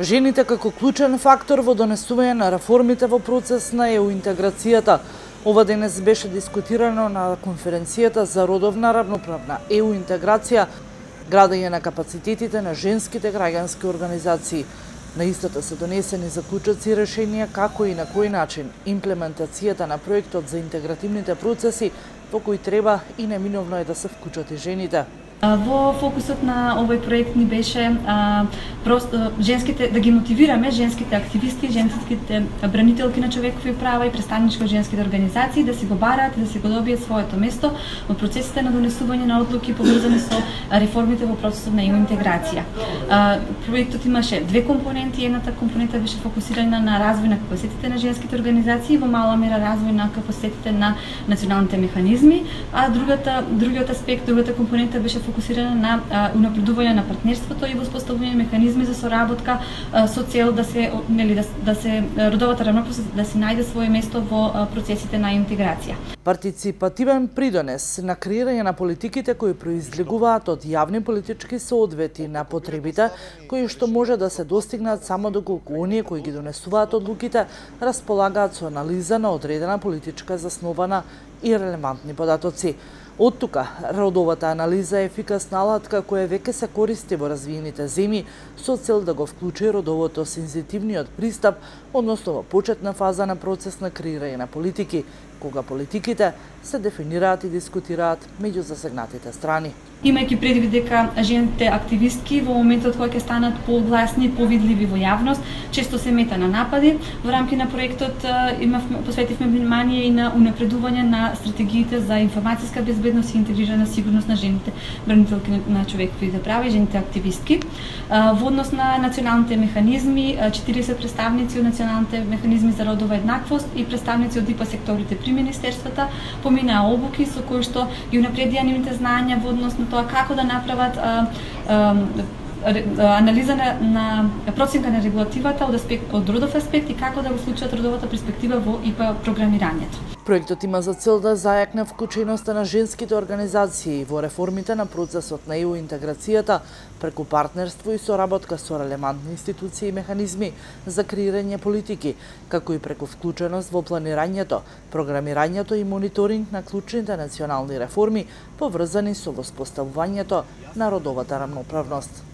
Жените како клучен фактор во донесување на реформите во процес на ЕУ интеграцијата. Ова денес беше дискутирано на конференцијата за родовна равноправна ЕУ интеграција, градење на капацитетите на женските граѓански организации. На истата се донесени заклучоци и решенија како и на кој начин имплементацијата на проектот за интегративните процеси во кој треба и неминовно е да се вклучат и жените. Во фокусот на овој проект ни беше женските, да ги мотивираме женските активисти, женските бранителки на човекови права и представнички од женските организации да си го бараат и да си го добијат своето место во процесите на донесување на одлуки поврзани со реформите во процесот на ЕУ интеграција. Проектот имаше две компоненти. Едната компонента беше фокусирана на развој на капацитетите на женските организации, во мала мера развој на капацитетите на националните механизми, а другиот аспект, другата компонента беше фокусирана на унапредување на партнерството и воспоставување механизми за соработка со цел да се родовата равноправност да се најде свое место во процесите на интеграција. Партиципативен придонес на креирање на политиките кои произлегуваат од јавни политички соодвети на потребите кои што може да се достигнат само доколку оние кои ги донесуваат одлуките располагаат со анализа на одредена политичка заснована и релевантни податоци. Од тука, родовата анализа е ефикасна алатка која веќе се користи во развиените земји со цел да го вклучи родовото сензитивниот пристап, односно во почетна фаза на процес на креирање на политики, кога политиките се дефинираат и дискутираат меѓу засегнатите страни. Имајќи предвид дека жените активистки во моментот кога ќе станат погласни, повидливи во јавност, често се мета на напади. Во рамки на проектот посветивме внимание и на унапредување на стратегиите за информацијска безбедност и интегрирана сигурност на жените бранителки на човековите права и жените активистки. Во однос на националните механизми, 40 представници од националните механизми за родова еднаквост и представници од ИПА секторите при министерствата поминаа обуки со кои што ги унапредија нивните знаења во однос на тоа како да направат анализа на проценка на регулативата од родов аспект и како да го случат родовата перспектива во ИПА програмирањето. Проектот има за цел да зајакне вклученоста на женските организации во реформите на процесот на ЕУ интеграцијата преку партнерство и соработка со релевантни институции и механизми за креирање политики, како и преку вклученост во планирањето, програмирањето и мониторинг на клучните национални реформи поврзани со воспоставувањето на родовата рамноправност.